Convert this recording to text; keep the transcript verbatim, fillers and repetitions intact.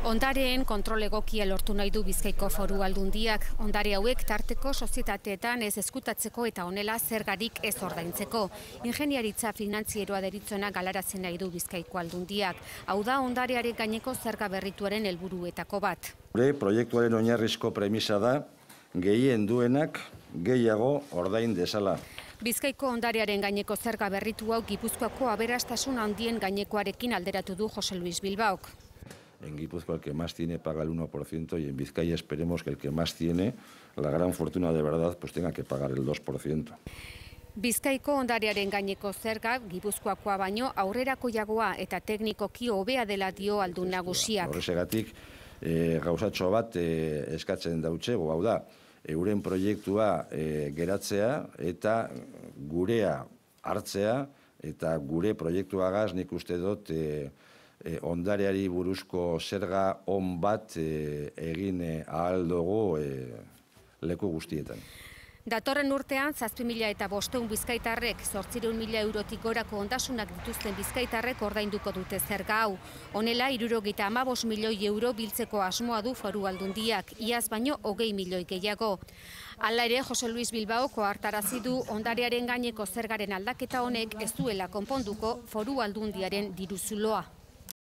Ondareen kontrol egokia lortu nahi du Bizkaiko Foru Aldundiak. Ondare hauek tarteko sozietateetan ez eskutatzeko eta honela zergarik ez ordaintzeko. Ingeniaritza finantzieroa deritzona galarazen nahi du Bizkaiko Aldundiak. Hau da ondarearen gaineko zerga berrituaren helburuetako bat. Gure proiektuaren oinarrizko premisa da gehien duenak gehiago ordain dezala. Bizkaiko ondarearen gaineko zerga berritu hau Gipuzkoako aberastasun handien gainekoarekin alderatu du Jose Luis Bilbaok. En Guipúzcoa el que más tiene paga el uno por ciento y en Vizcaya esperemos que el que más tiene, la gran fortuna de verdad, pues tenga que pagar el dos por ciento. Bizkaiko ondarearen gaineko zerga Gipuzkoakoa baino aurrerakoiagoa eta teknikoki hobea dela dio aldun nagusiak. Horregatik e, gauzatxo bat e, eskatzen dautzego, hau da, euren proiektua e, geratzea eta gurea hartzea eta gure proiektuagaz nik uste dut e, E, ondareari buruzko zerga on bat e, egin e, ahal dugu e, leku guztietan. Datorren urtean, zazpi mila eta bosteun bizkaitarrek, zortzireun mila eurotik gorako ondasunak dituzten bizkaitarrek ordainduko dute zerga hau. Honela, hirurogeita hamabost milioi euro biltzeko asmoa du Foru Aldundiak, iaz baino hogei milioi gehiago. Hala ere, Jose Luis Bilbaoko hartarazi du ondarearen gaineko zergaren aldaketa honek ez duela konponduko Foru Aldundiaren diruzuloa.